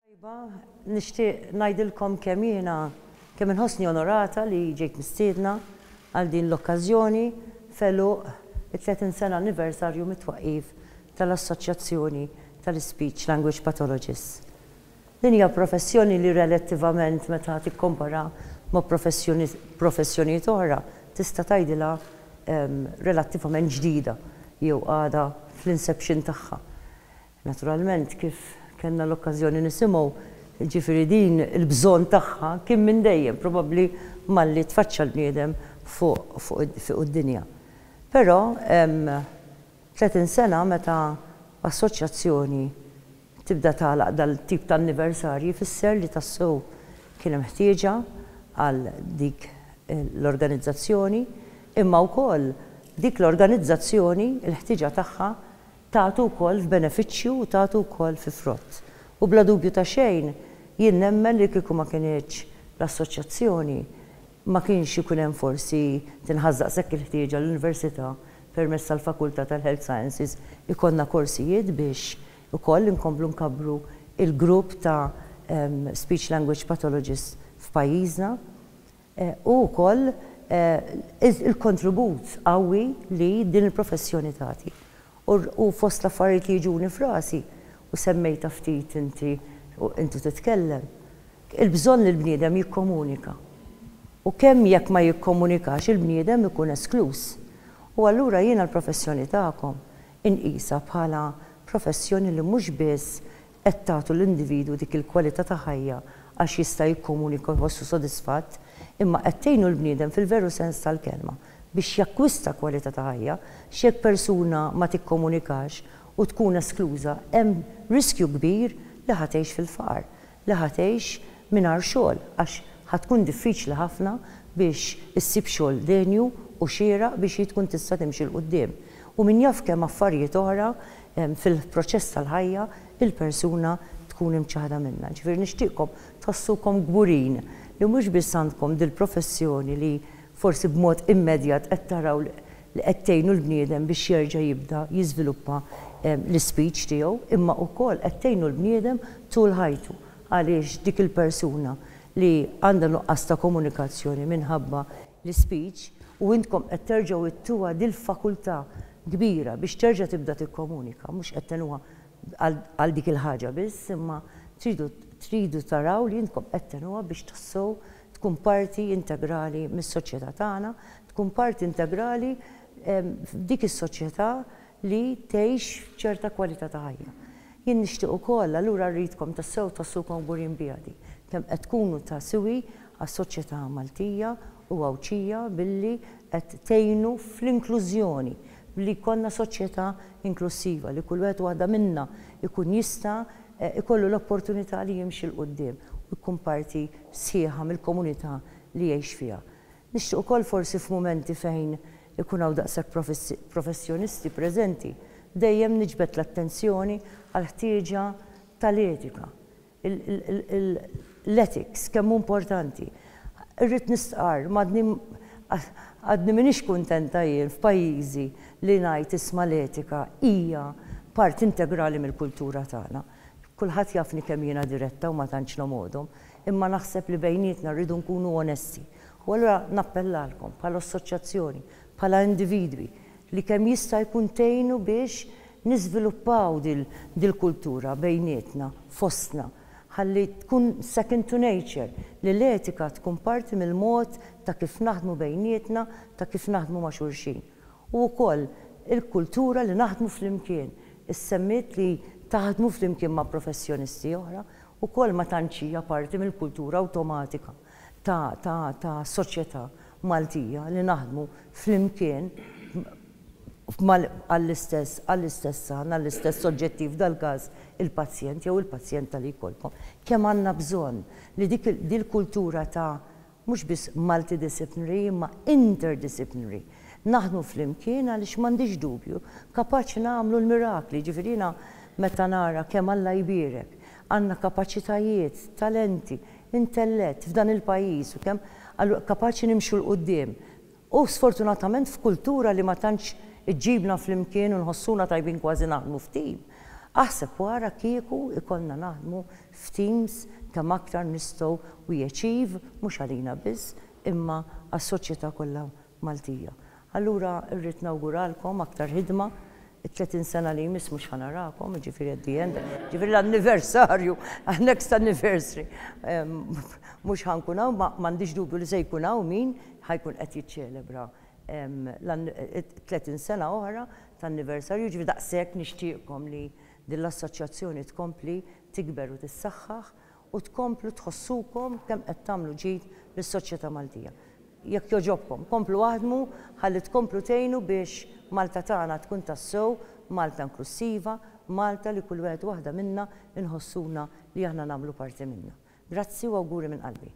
Tajba, nixtieq ngħidilkom kemm jiena kemm inħossni onorata li ġejt mistiedna għal din l-okkażjoni f'għeluq it-30 sena anniversarju mit-twaqqif tal-Assoċjazzjoni tal-Ispeech Language Pathologists. Din hija professjoni li relattivament meta tikkompara ma' professjonijiet oħra tista' tgħidilha relattivament ġdida jew għadha fl-inception tagħha. Naturalment, kif kellna l-okkażjoni nisimgħu, jiġifieri din il-bżonn tagħha kien minn dejjem, probabbli malli tfaċċa l-bniedem fuq fuq id-dinja. Però 30 sena meta assoċjazzjoni tibda tagħlaq dal-tip ta' anniversarji jfisser li tassew kien hemm ħtieġa għal dik l-organizzazzjoni, imma wkoll dik l-organizzazzjoni l-ħtieġa tagħha Tagħtu wkoll f'benefiċċju u tagħtu wkoll fi frott. U bla dubju ta' xejn, jien nemmen li kieku ma kinitx l-assoċjazzjoni, ma kienx ikun hemm forsi tinħass daqshekk il-ħtieġa l-Università permezz tal-Fakultà tal-Health Sciences ikollna korsijiet biex ukoll inkomplu nkabbru il-grupp ta' speech language pathologists f'pajjiżna. U wkoll il-kontribut qawwi li din il-professjoni tagħti. U fost l-affarijiet li jiġuni f'rasi, u semmejtha ftit inti inti titkellem, il-bżonn li l-bniedem jikkomunika. U kemm jekk ma jikkomunikax il-bniedem ikun eskluż. U allura jiena l-professjoni tagħkom inqisha bħala professjoni li mhux biss qed tagħtu l-individwu dik il-kwalità ta' ħajja għax jista' jikkomunika u jħossu sodisfatt, imma qed tgħinu l-bniedem fil-veru sens tal-kelma biex jakkwista kwalità ta' ħajja, x'jekk persuna ma tikkomunikax u tkun eskluża hemm riskju kbir li ħa tgħix fil-faqar, li ħa tgħix mingħajr xogħol għax ħa tkun diffiċli ħafna biex issib xogħol denju u xieraq biex hi tkun tista' timxi 'l quddiem. U min jaf kemm affarijiet oħra fil-proċess tal-ħajja il-persuna tkun imċaħħda minnha. Ġifieri nixtieqkom tħossukom kburin li mhux biss għandkom dil-professjoni li forsi b'mod immedjat qed taraw li qed tgħinu l-bniedem biex jerġa' jibda jiżviluppa l-ispeech tiegħu, imma wkoll qed tgħinu l-bniedem tul ħajtu għaliex dik il-persuna li għandha nuqqas ta' komunikazzjoni minħabba l-ispeech u intkom qed terġgħu ttuha dil-fakultà kbira biex terġa' tibda tikkomunika, mhux qed tgħinuha għal dik il-ħaġa biss, imma tridu tridu taraw li intkom qed tgħinuha biex tassew tkun parti integrali mis-soċjetà tagħna, tkun parti integrali f'dik is-soċjetà li tgħix ċerta kwalità ta' ħajja. Jien nixtieq ukoll, allura rridkom tassew tħossukom kburin biha din, kemm qed tkunu ta' siwi għas-soċjetà Maltija u Għawdxija billi qed tgħinu fl-inklużjoni, billi jkollna soċjetà inklussiva li kull wieħed u waħda minna jkun jista' jkollu l-opportunità li jimxi 'l quddiem u jkun parti sħiħa mill-komunità li jgħix fiha. Nixtieq ukoll forsi f'mumenti fejn ikun hawn daqshekk professjonisti preżenti, dejjem niġbed l-attenzjoni għall-ħtieġa tal-etika, l-ethics kemm hu importanti. Irrid nistqarr, m'għadni għadni m'iniex kuntenta jien f'pajjiżi li ngħid isma' l-etika hija parti integrali mill-kultura tagħna. Kulħadd jafni kemm jiena diretta u ma tantx nomgħodhom, imma naħseb li bejnietna rridu nkunu onesti. U allura nappellalkom bħala assoċjazzjoni, bħala individwi, li kemm jista' jkun tgħinu biex niżviluppaw dil-kultura bejnietna, fostna, ħalli tkun second to nature, li l-etika tkun parti mill-mod ta' kif naħdmu bejnietna, ta' kif naħdmu ma' xulxin. U wkoll il-kultura li naħdmu flimkien. Issemmiet li taħdmu flimkien ma' professjonisti oħra, ukoll ma tantx hija parti mill-kultura awtomatika ta' ta' ta' soċjetà Maltija li naħdmu flimkien għall-istess għall-istess għan, għall-istess oġġettiv, f'dal-każ il-pazjent jew il-pazjenta li jkollkom. Kemm għandna bżonn li dik dil-kultura ta' mhux biss multidisciplinary imma interdisciplinary naħdmu flimkien għaliex m'għandix dubju kapaċi nagħmlu l-mirakli, jiġifieri jiena meta nara kemm Alla jbierek għandna kapaċitajiet, talenti, intellett f'dan il-pajjiż u kemm kapaċi nimxu 'l quddiem. U sfortunatament f'kultura li ma tantx iġġibna flimkien u nħossuna tajbin kważi naħdmu f'tim. Aħseb wara kieku ikollna naħdmu f'teams kemm aktar nistgħu we achieve mhux għalina biss imma għas-soċjetà kollha Maltija. Allura rrid nawguralkom aktar ħidma, it-30 sena li jmiss mhux ħa narakom, jiġifieri at the end, jiġifieri l-anniversarju, next anniversary, mhux ħa nkun hawn, ma m'għandix dubju li se jkun hawn min ħa jkun qed jiċċelebra 30 sena oħra ta' anniversarju, jiġifieri daqshekk nixtieqkom li din l-assoċjazzjoni tkompli tikber u tissaħħaħ u tkomplu tħossukom kemm qed tagħmlu ġid lis-soċjetà Maltija. Jekk jogħġobkom, komplu aħdmu ħalli tkomplu tgħinu biex Malta tagħna tkun tassew Malta inklussiva, Malta li kull wieħed u waħda minna nħossuna li aħna nagħmlu parti minnha. Grazzi u awguri minn qalbi.